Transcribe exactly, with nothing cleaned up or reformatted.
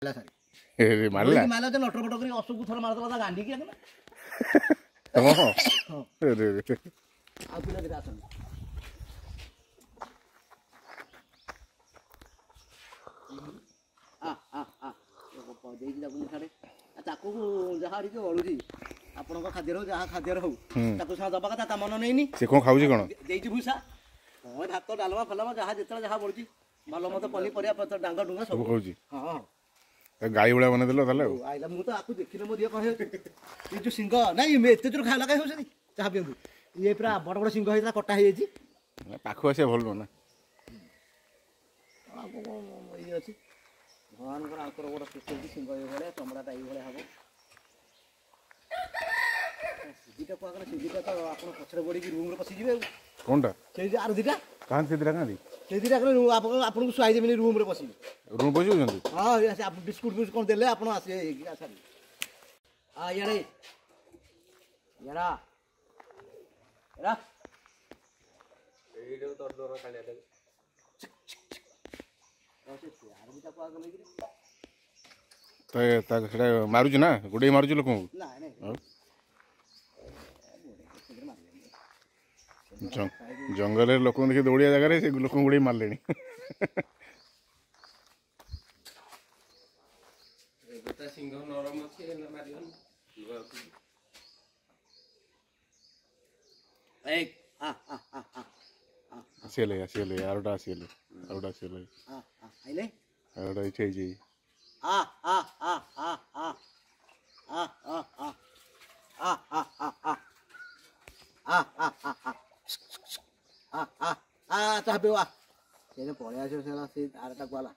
ଏ ମାରିଲା ମାରିଲା ଯେ ନଟର ପଟ କରି ଅଶୋକକୁ ଥରେ ମାରିଦେଲା ତା ଗାଣ୍ଡିକି ଆଗେ। ହଁ, ଆରେ ଆଉ ପିଲା ଦିଟା ଆସନ୍ତି। ଆ ଆ ଆ ଦେଇଛି ତାକୁ ମୁଁ ଛାଡ଼େ। ତାକୁ ଯାହା ଟିକେ ବଳୁଛି ଆପଣଙ୍କ ଖାଦ୍ୟରେ ହଉ, ଯାହା ଖାଦ୍ୟରେ ହଉ, ତାକୁ ସିନା ଦବା କଥା, ତା ମନ ନେଇନି। ସେ କଣ ଖାଉଛି କଣ? ଦେଇଛି ଭୁଷା, ହଁ, ଭାତ ଡାଲମା ଫାଲମା ଯାହା ଯେତେବେଳେ ଯାହା ବଳୁଛି, ଭଲ ମନ୍ଦ ପନିପରିବା ପତ୍ର ଡାଙ୍ଗ ଡୁଙ୍ଗା ସବୁ ଖାଉଛି। ହଁ, ଗାଈ ଭଳିଆ ବନେଇଦେଲ ତାହେଲେ। ଆଉ ଆଇଲା, ମୁଁ ତ ଆକୁ ଦେଖିଲେ ମୋ ଦିହ କଣ ହେଇଯାଉଛି। ଏ ଯୋଉ ସିଂହ ନାଇଁ, ଏତେ ଜୋର ଖାଇଲା କାହିଁ ହଉଛନ୍ତି? ଚାହା ପିଅନ୍ତୁ। ଇଏ ପୁରା ବଡ଼ ବଡ଼ ସିଂହ ହେଇଥିଲା, କଟା ହେଇଯାଇଛି। ପାଖକୁ ଆସିବା ଭଲ ନୁହଁ ନା? ଆଉ କଣ ଇଏ ଅଛି? ଭଗବାନଙ୍କର ଆଙ୍କର ଗୋଟେ ସୃଷ୍ଟି ହେଇଛି ସିଂହ ଏଇଭଳିଆ, ଚମଡ଼ାଟା ଏଇଭଳିଆ ହବ। ସେ ଦୁଇଟା କୁହାଗଲା, ସେ ଦୁଇଟା ତ ଆପଣ ପଛରେ ପଡ଼ିକି ରୁମ୍ରେ ପଶିଯିବେ। ଆଉ କଣଟା? ସେଇ ଯେ ଆର ଦୁଇଟା କାହାନ୍ତି? ସେ ଦୁଇଟା କାହାନ୍ତି? ସେ ଦୁଇଟା ଆପଣ ଆପଣଙ୍କୁ ଶୁଆଇ ଦେବେନି, ରୁମ୍ରେ ପଶିବେ। ରୁମ୍ ପଶିଯାଉଛନ୍ତି? ହଁ, ବିସ୍କୁଟ ଫିସ୍କୁଟ କ'ଣ ଦେଲେ ଆପଣ ଆସିବେ। ହଁ, ଇଆଡ଼େ ଇଆଡ଼ା ଏରା ସେଟା ମାରୁଛି ନା ଗୋଡ଼େଇ ମାରୁଛି ଲୋକଙ୍କୁ? ନାଇଁ ନାଇଁ, ଜଙ୍ଗଲରେ ଲୋକଙ୍କୁ ଦେଖି ଦୌଡ଼ିଆ ଜାଗାରେ ସେ ଲୋକଙ୍କୁ ଗୋଡ଼େଇ ମାରିଲେଣି। ସିଂହ ନରମ ଅଛି, ହେଲେ ମାରିବନି। ଆସିଗଲେ, ଆସିଗଲେ, ଆରଟା ଆସିଗଲେ, ଆରଟା ଆସିଗଲେ, ଆରଟା ଏଇଠି ହେଇଛି। ଆ ଆ ଆ ଆ ଆ ଆ ଆ ଆ ଆ ଆ ଆ ଆ ଆ ଆ ଆ ଆ ଆ ଆ ଆ ଚାହା ପିଉ। ଆ ସେ ପଳେଇ ଆସିବ। ସେ ସେ ଆରଟା କୁଆଲା।